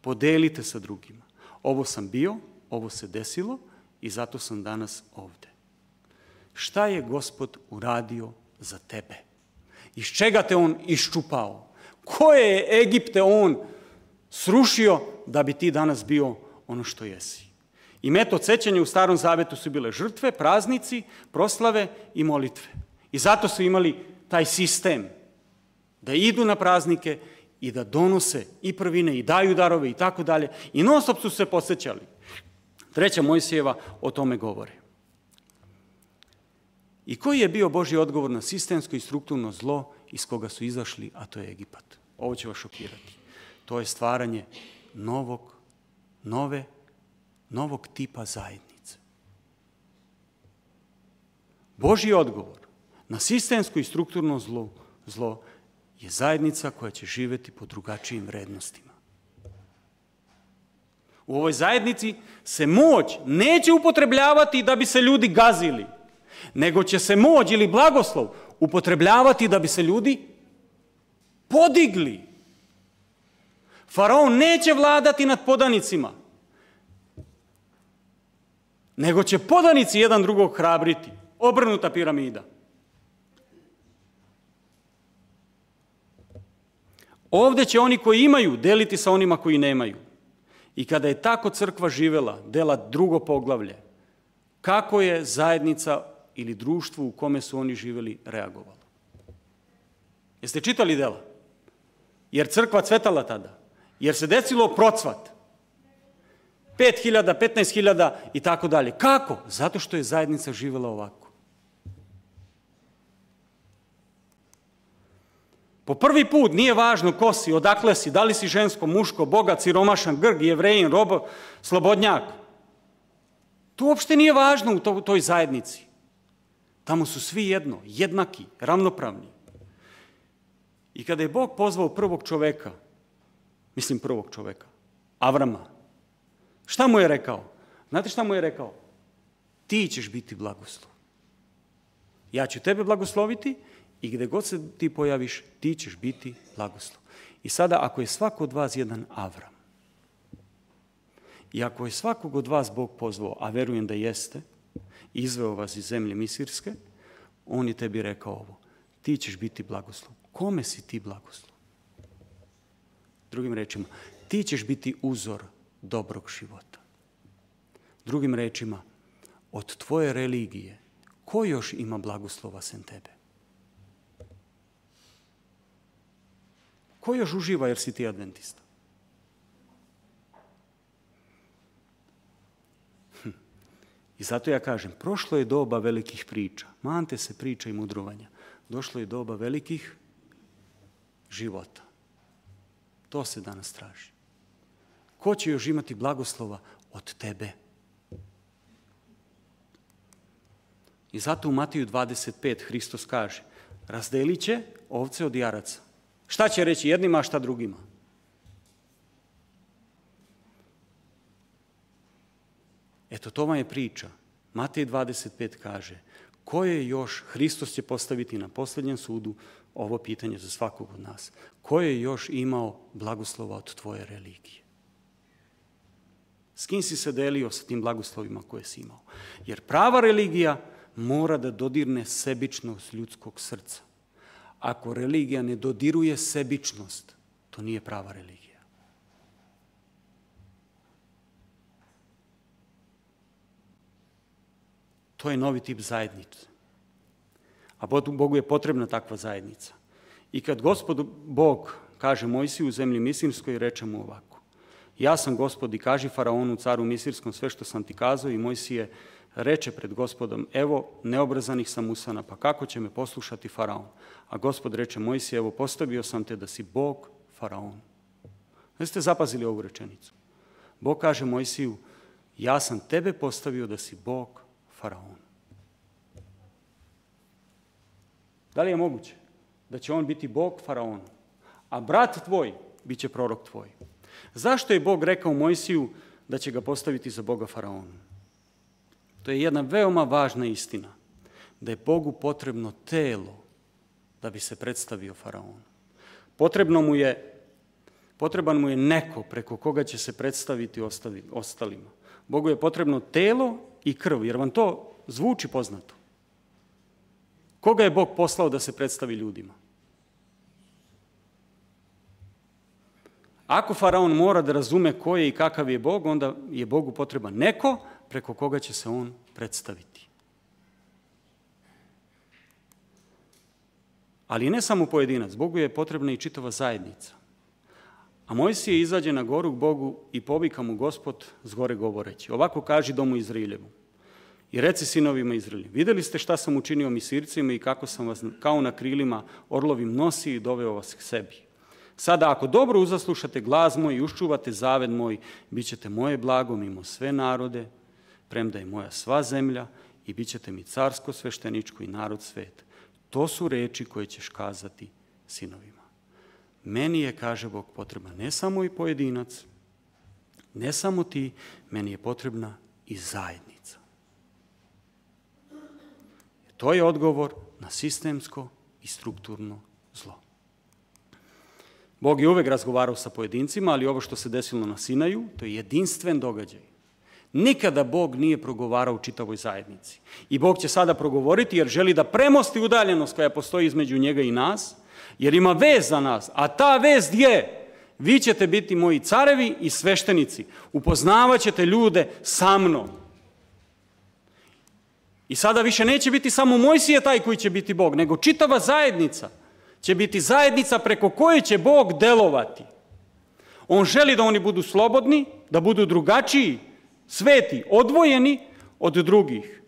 podelite sa drugima. Ovo sam bio, ovo se desilo i zato sam danas ovde. Šta je Gospod uradio za tebe? Iz čega te on iščupao? Koje je Egipte on srušio da bi ti danas bio ono što jesi? I metod sećanja u Starom Zavetu su bile žrtve, praznici, proslave i molitve. I zato su imali taj sistem da idu na praznike i da donose i prvine i daju darove i tako dalje. I non stop su se podsjećali. 3. Mojsijeva o tome govori. I koji je bio Božji odgovor na sistemsko i strukturno zlo iz koga su izašli, a to je Egipat? Ovo će vas šokirati. To je stvaranje novog tipa zajednice. Božji odgovor na sistemsko i strukturno zlo je zajednica koja će živjeti po drugačijim vrednostima. U ovoj zajednici se moć neće upotrebljavati da bi se ljudi gazili, nego će se moć ili blagoslov upotrebljavati da bi se ljudi podigli. Faraon neće vladati nad podanicima, nego će podanici jedan drugog hrabriti. Obrnuta piramida. Ovdje će oni koji imaju deliti sa onima koji nemaju. I kada je tako crkva živela, dela drugo poglavlje, kako je zajednica ili društvo u kome su oni živjeli reagovalo? Jeste čitali dela? Jer crkva cvetala tada. Jer se desilo procvat. 5.000, 15.000 i tako dalje. Kako? Zato što je zajednica živjela ovako. Po prvi put nije važno ko si, odakle si, da li si žensko, muško, bogat, siromašan, Grk, Jevrejin, robo, slobodnjak. To uopšte nije važno u toj zajednici. Tamo su svi jedno, jednaki, ravnopravni. I kada je Bog pozvao prvog čoveka, Avrama, šta mu je rekao? Znate šta mu je rekao? Ti ćeš biti blagoslov. Ja ću tebe blagosloviti i gdje god se ti pojaviš, ti ćeš biti blagoslov. I sada, ako je svako od vas jedan Avram, i ako je svakog od vas Bog pozvao, a verujem da jeste, izveo vas iz zemlje Misirske, on je tebi rekao ovo. Ti ćeš biti blagoslov. Kome si ti blagoslov? Drugim rečima, ti ćeš biti uzor dobrog života. Drugim rečima, od tvoje religije, ko još ima blagoslova sem tebe? Ko još uživa jer si ti adventista? I zato ja kažem, prošlo je doba velikih priča. Mante se priča i mudrovanja. Došlo je doba velikih života. To se danas traži. Ko će još imati blagoslova od tebe? I zato u Matiju 25 Hristos kaže, razdelit će ovce od jaraca. Šta će reći jednima, a šta drugima? Eto, to vam je priča. Matej 25 kaže, ko je još, Hristos će postaviti na posljednjem sudu ovo pitanje za svakog od nas. Ko je još imao blagoslova od tvoje religije? S kim si se delio sa tim blagoslovima koje si imao? Jer prava religija mora da dodirne sebičnost ljudskog srca. Ako religija ne dodiruje sebičnost, to nije prava religija. To je novi tip zajednice. A Bogu je potrebna takva zajednica. I kad Gospod Bog kaže Mojsiju u zemlji Misirskoj, reče mu ovako. Ja sam Gospod i kaži faraonu, caru Misirskom, sve što sam ti kazao, i Mojsije reče pred Gospodom, evo neobrazanih sam usana, pa kako će me poslušati faraon? A Gospod reče Mojsije, evo postavio sam te da si Bog faraonu. Da ste zapazili ovu rečenicu? Bog kaže Mojsiju, ja sam tebe postavio da si Bog faraonu. Da li je moguće da će on biti Bog faraonu, a brat tvoj bit će prorok tvoj? Zašto je Bog rekao Mojsiju da će ga postaviti za Boga faraonu? To je jedna veoma važna istina, da je Bogu potrebno telo da bi se predstavio faraonu. Potreban mu je neko preko koga će se predstaviti ostalima. Bogu je potrebno telo i krv, jer vam to zvuči poznato. Koga je Bog poslao da se predstavi ljudima? Ako faraon mora da razume ko je i kakav je Bog, onda je Bogu potreban neko preko koga će se on predstaviti. Ali ne samo pojedinac, Bogu je potrebna i čitava zajednica. A Mojsije izađe na goru k Bogu i povika mu Gospod s gore govoreći. Ovako kaži domu Izraeljevu. I reci sinovima Izraelji, vidjeli ste šta sam učinio Misircima i kako sam vas kao na krilima orlovim nosio i doveo vas k sebi. Sada ako dobro uzaslušate glas moj i uščuvate zaved moj, bit ćete moje blago mimo sve narode, premda je moja sva zemlja, i bit ćete mi carsko svešteničko i narod svet. To su reči koje ćeš kazati sinovima. Meni je, kaže Bog, potreban ne samo i pojedinac, ne samo ti, meni je potrebna i zajednica. To je odgovor na sistemsko i strukturno zlo. Bog je uvek razgovarao sa pojedincima, ali ovo što se desilo na Sinaju, to je jedinstven događaj. Nikada Bog nije progovarao u čitavoj zajednici. I Bog će sada progovoriti jer želi da premosti udaljenost koja postoji između njega i nas, jer ima vez za nas, a ta vez je, vi ćete biti moji carevi i sveštenici, upoznavat ćete ljude sa mnom. I sada više neće biti samo Mojsije taj koji će biti Bog, nego čitava zajednica će biti zajednica preko koje će Bog delovati. On želi da oni budu slobodni, da budu drugačiji, sveti, odvojeni od drugih.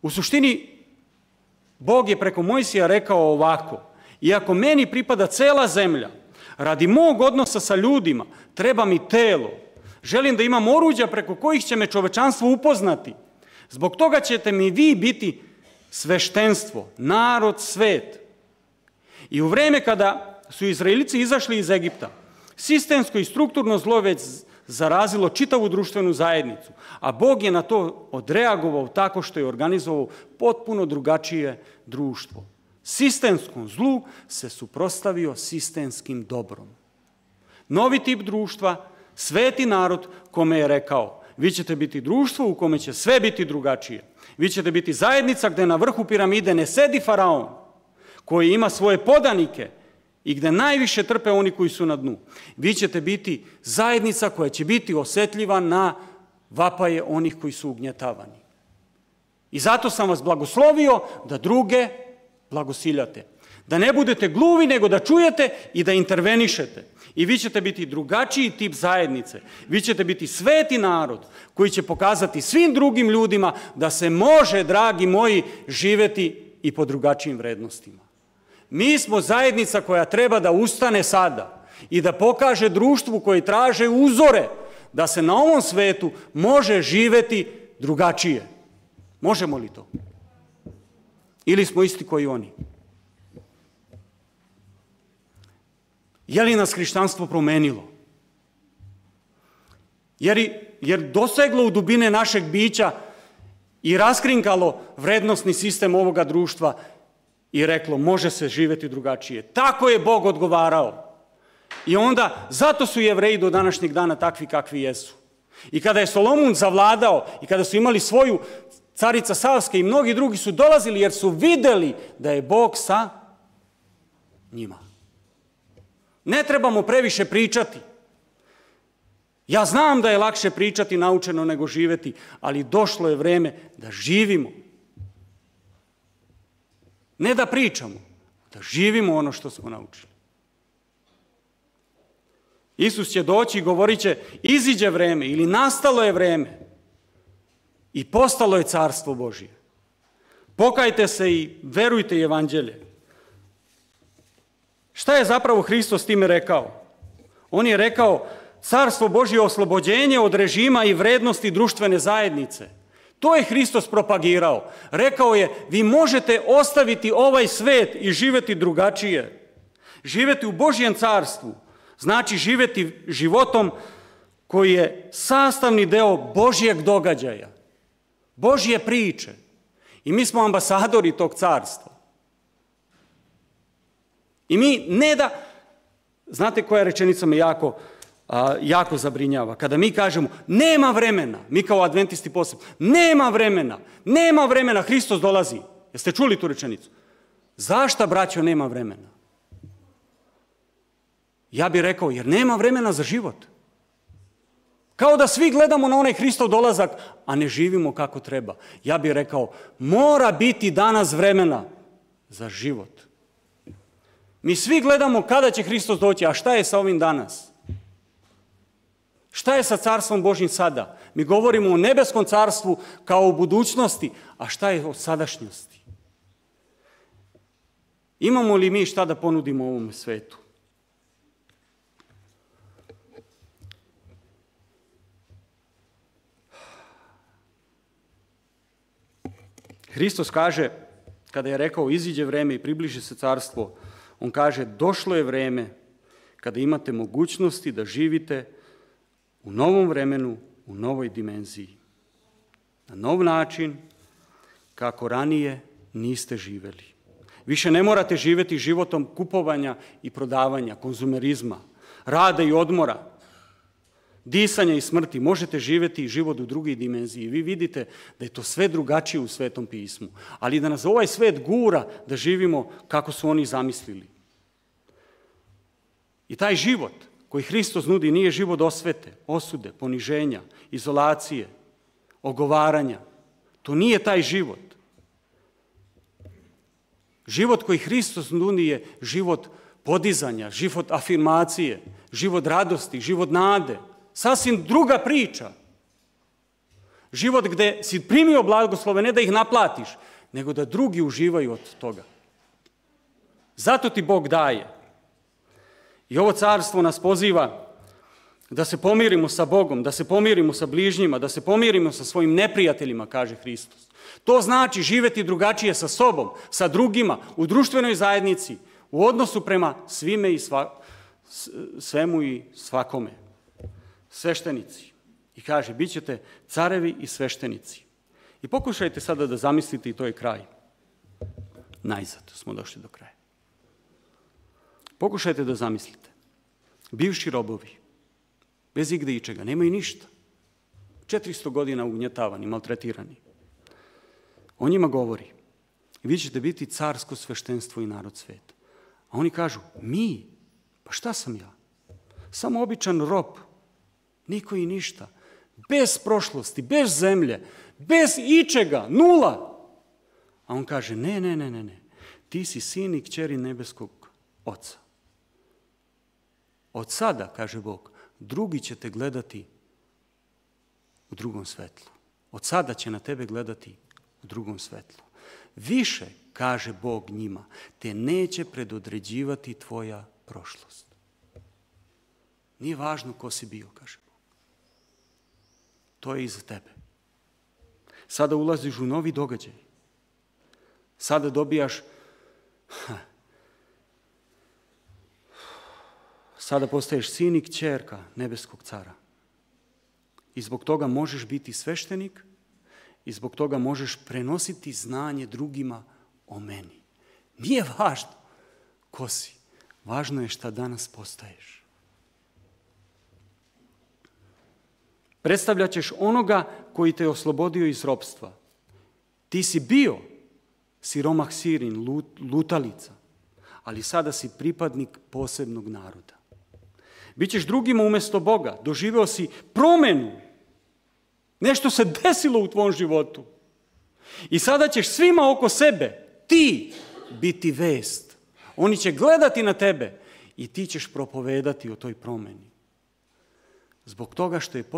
U suštini, Bog je preko Mojsija rekao ovako, iako meni pripada cela zemlja, radi mog odnosa sa ljudima, treba mi telo. Želim da imam oruđa preko kojih će me čovečanstvo upoznati. Zbog toga ćete mi vi biti sveštenstvo, narod, svet. I u vreme kada su Izraelici izašli iz Egipta, sistemsko i strukturno zlo već zarazilo čitavu društvenu zajednicu, a Bog je na to odreagovao tako što je organizovao potpuno drugačije društvo. Sistemskom zlu se suprotstavio sistemskim dobrom. Novi tip društva, sveti narod kome je rekao, vi ćete biti društvo u kome će sve biti drugačije. Vi ćete biti zajednica gde na vrhu piramide ne sedi faraon, koji ima svoje podanike i gde najviše trpe oni koji su na dnu. Vi ćete biti zajednica koja će biti osetljiva na vapaje onih koji su ugnjetavani. I zato sam vas blagoslovio da druge blagosiljate. Da ne budete gluvi, nego da čujete i da intervenišete. I vi ćete biti drugačiji tip zajednice. Vi ćete biti sveti narod koji će pokazati svim drugim ljudima da se može, dragi moji, živeti i po drugačijim vrednostima. Mi smo zajednica koja treba da ustane sada i da pokaže društvu koji traže uzore da se na ovom svetu može živeti drugačije. Možemo li to? Ili smo isti koji oni? Je li nas hrišćanstvo promenilo? Jer doseglo u dubine našeg bića i raskrinkalo vrednosni sistem ovoga društva i reklo može se živjeti drugačije. Tako je Bog odgovarao. I onda, zato su Jevreji do današnjeg dana takvi kakvi jesu. I kada je Solomon zavladao i kada su imali svoju carica Savska i mnogi drugi su dolazili jer su vidjeli da je Bog sa njima. Ne trebamo previše pričati. Ja znam da je lakše pričati naučeno nego živjeti, ali došlo je vrijeme da živimo. Ne da pričamo, da živimo ono što smo naučili. Isus će doći i govorit će, iziđe vrijeme ili nastalo je vrijeme i postalo je carstvo Božje. Pokajte se i verujte evanđelje. Šta je zapravo Hristos time rekao? On je rekao, carstvo Božje je oslobođenje od režima i vrednosti društvene zajednice. To je Hristos propagirao. Rekao je, vi možete ostaviti ovaj svet i živjeti drugačije. Živjeti u Božjem carstvu znači živjeti životom koji je sastavni deo Božjeg događaja, Božje priče. I mi smo ambasadori tog carstva. I mi ne da... Znate koja rečenica me jako zabrinjava? Kada mi kažemo, nema vremena, mi kao adventisti posebno, nema vremena, Hristos dolazi. Jeste čuli tu rečenicu? Zašto, braćo, nema vremena? Ja bih rekao, jer nema vremena za život. Kao da svi gledamo na onaj Hristov dolazak, a ne živimo kako treba. Ja bih rekao, mora biti danas vremena za život. Mi svi gledamo kada će Hristos doći, a šta je sa ovim danas? Šta je sa carstvom Božjim sada? Mi govorimo o nebeskom carstvu kao o budućnosti, a šta je o sadašnjosti? Imamo li mi šta da ponudimo ovom svetu? Hristos kaže, kada je rekao iziđe vrijeme i približi se carstvo, on kaže došlo je vrijeme kada imate mogućnosti da živite u novom vremenu, u novoj dimenziji. Na nov način kako ranije niste živjeli. Više ne morate živjeti životom kupovanja i prodavanja, konzumerizma, rada i odmora, disanja i smrti. Možete živjeti život u drugoj dimenziji. Vi vidite da je to sve drugačije u Svetom pismu. Ali da nas ovaj svet gura da živimo kako su oni zamislili. I taj život koji Hristos nudi nije život osvete, osude, poniženja, izolacije, ogovaranja. To nije taj život. Život koji Hristos nudi je život podizanja, život afirmacije, život radosti, život nade. Sasvim druga priča. Život gdje si primio blagoslove, ne da ih naplatiš, nego da drugi uživaju od toga. Zato ti Bog daje. I ovo carstvo nas poziva da se pomirimo sa Bogom, da se pomirimo sa bližnjima, da se pomirimo sa svojim neprijateljima, kaže Hristos. To znači živjeti drugačije sa sobom, sa drugima, u društvenoj zajednici, u odnosu prema svime i svemu i svakome. Sveštenici. I kaže, bit ćete carevi i sveštenici. I pokušajte sada da zamislite i to je kraj. Najzad smo došli do kraja. Pokušajte da zamislite. Bivši robovi, bez igde ičega, nemaju ništa. 400 godina ugnjetavani, maltretirani. On njima govori, vi ćete biti carsko sveštenstvo i narod sveta. A oni kažu, mi? Pa šta sam ja? Samo običan rob. Niko i ništa. Bez prošlosti, bez zemlje, bez ičega, nula. A on kaže, ne. Ti si sin i kćeri nebeskog Oca. Od sada, kaže Bog, drugi će te gledati u drugom svetlu. Od sada će na tebe gledati u drugom svetlu. Više, kaže Bog njima, te neće predodređivati tvoja prošlost. Nije važno ko si bio, kaže Bog. To je iza tebe. Sada ulaziš u novi događaj. Sada dobijaš, sada postaješ sin i kćerka nebeskog cara. I zbog toga možeš biti sveštenik i zbog toga možeš prenositi znanje drugima o meni. Nije važno ko si, važno je šta danas postaješ. Predstavljat ćeš onoga koji te je oslobodio iz ropstva. Ti si bio siromah Sirin, lutalica, ali sada si pripadnik posebnog naroda. Bićeš drugima umjesto Boga, doživeo si promjenu. Nešto se desilo u tvom životu. I sada ćeš svima oko sebe, ti, biti vest. Oni će gledati na tebe i ti ćeš propovedati o toj promjeni. Zbog toga što je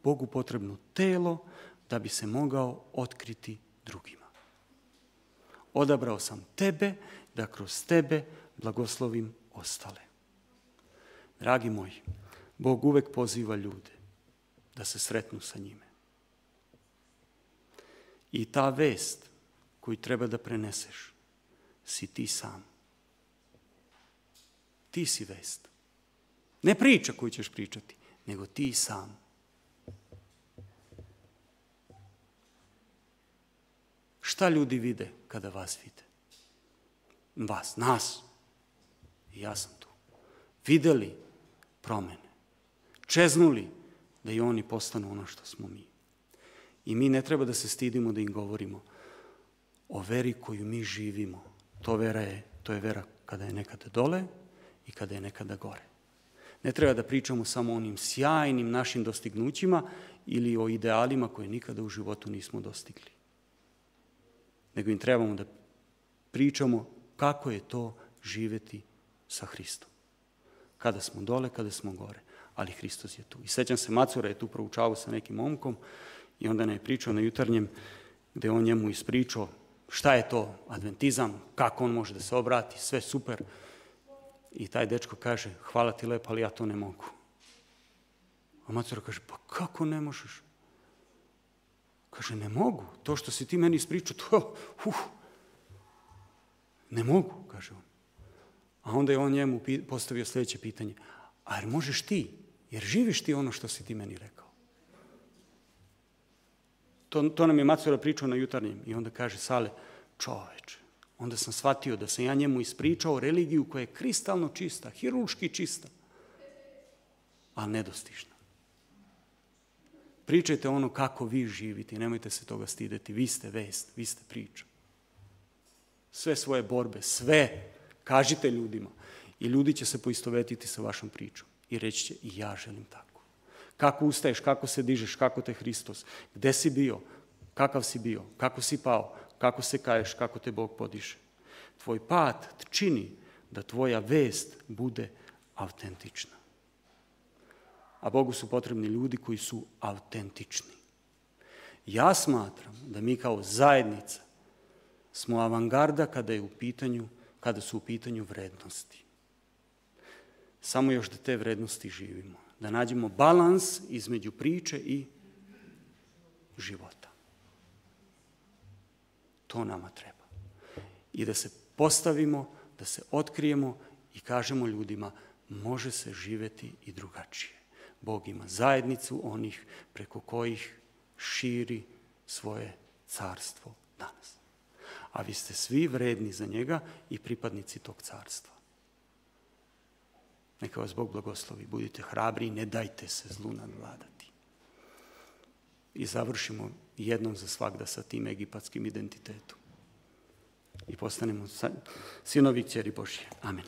Bogu potrebno telo da bi se mogao otkriti drugima. Odabrao sam tebe da kroz tebe blagoslovim ostale. Dragi moji, Bog uvek poziva ljude da se sretnu sa njime. I ta vest koju treba da preneseš si ti sam. Ti si vest. Ne priča koju ćeš pričati, nego ti sam. Šta ljudi vide kada vas vide? Vas, nas. I ja sam tu. Videli promjene. Čeznuli da i oni postanu ono što smo mi. I mi ne treba da se stidimo da im govorimo o veri koju mi živimo. To je vera kada je nekada dole i kada je nekada gore. Ne treba da pričamo samo o onim sjajnim našim dostignućima ili o idealima koje nikada u životu nismo dostigli. Nego im trebamo da pričamo kako je to živjeti sa Hristom. Kada smo dole, kada smo gore. Ali Hristos je tu. I sećam se, Macura je tu proučavao sa nekim momkom i onda ne je pričao na jutarnjem gdje on njemu ispričao šta je to adventizam, kako on može da se obrati, sve super. I taj dečko kaže, hvala ti lepo, ali ja to ne mogu. A Macura kaže, pa kako ne možeš? Kaže, ne mogu. To što si ti meni ispričao, to ne mogu, kaže on. A onda je on njemu postavio sljedeće pitanje. A jer možeš ti? Jer živiš ti ono što si ti meni rekao? To nam je Macura pričao na jutarnjem. I onda kaže Sale, čoveče, onda sam shvatio da sam ja njemu ispričao religiju koja je kristalno čista, hirurški čista, a nedostižna. Pričajte ono kako vi živite i nemojte se toga stideti. Vi ste vest, vi ste priča. Sve svoje borbe, sve kažite ljudima i ljudi će se poistovetiti sa vašom pričom i reći će i ja želim tako. Kako ustaješ, kako se dižeš, kako te Hristos, gde si bio, kakav si bio, kako si pao, kako se kaješ, kako te Bog podiže. Tvoj pad čini da tvoja vest bude autentična. A Bogu su potrebni ljudi koji su autentični. Ja smatram da mi kao zajednica smo avangarda kada su u pitanju vrednosti. Samo još da te vrednosti živimo. Da nađemo balans između priče i života. To nama treba. I da se postavimo, da se otkrijemo i kažemo ljudima, može se živjeti i drugačije. Bog ima zajednicu onih preko kojih širi svoje carstvo danas. A vi ste svi vredni za njega i pripadnici tog carstva. Neka vas Bog blagoslovi, budite hrabri i ne dajte se zlu nadvladati. I završimo jednom za svagda sa tim egipatskim identitetom. I postanemo sinovi i kćeri Božje. Amen.